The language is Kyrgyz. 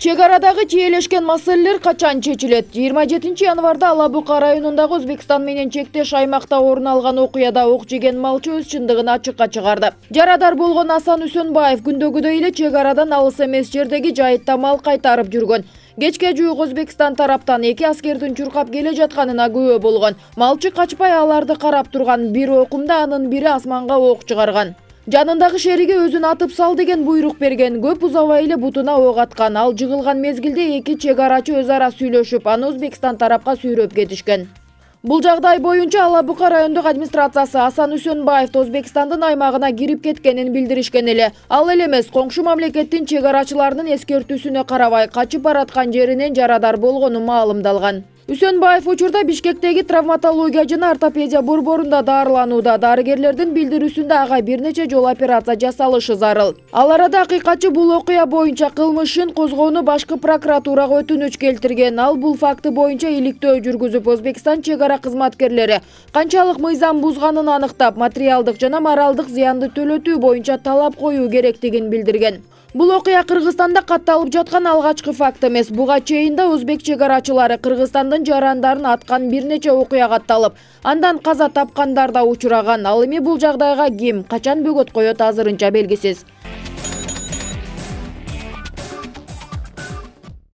Чек арадагы тиелешкен маселелер качан чечилет? 27 январда Алабука районундагы Өзбекстан менен чектеш аймакта орун алган окуяда ок жеген малчы өз чындыгын ачыкка чыгарды. Жарадар болгон Асан Үсөнбаев күндөгүдөй эле чек арадан алыс эмес жердеги жайытта мал кайтарып жүргөн. Кечке жуук Өзбекстан тараптан эки аскердин чуркап келе жатканына күбө болгон. Малчы качпай аларды карап турган, бир окумда анын бири асманга ок чыгарган. Жанындагы шериги өзүн атып сал деген буйрук берген. Көп узабай эле бутуна ок аткан. Ал жыгылган мезгилде эки чек арачы өз ара сүйлөшүп, аны Өзбекстан тарапка сүйрөп кетишкен. Бул жагдай боюнча Алабука райондук администрациясы Асан Үсөнбаев Өзбекстандын аймагына кирип кеткенин билдиришкен эле. Ал эле эмес, коңшу мамлекеттин чек арачыларынын эскертүүсүнө карабай качып бараткан жеринен жарадар болгону маалымдалган. Үсөнбаев учурда Бишкектеги травматология жана ортопедия борборунда дарыланууда. Дарыгерлердин билдирүүсүндө ага бир нече жолу операция жасалышы зарыл. Ал арада акыйкатчы бул окуя боюнча кылмыш ишин козгоону башкы прокуратурага өтүнүч келтирген. Ал бул факты боюнча иликтөө жүргүзүп, Өзбекстан чек ара кызматкерлери канчалык мыйзам бузганын аныктап, материалдык жана моралдык зыянды төлөтүү боюнча талап коюу керектигин билдирген. Бул окуя Кыргызстанда катталып жаткан алгачкы факт эмес. Буга чейин да өзбек чек арачылары Кыргызстандын жарандарын аткан бир нече окуя катталып, андан каза тапкандар да учураган. Ал эми бул жагдайга ким, качан бөгөт коет азырынча белгисиз.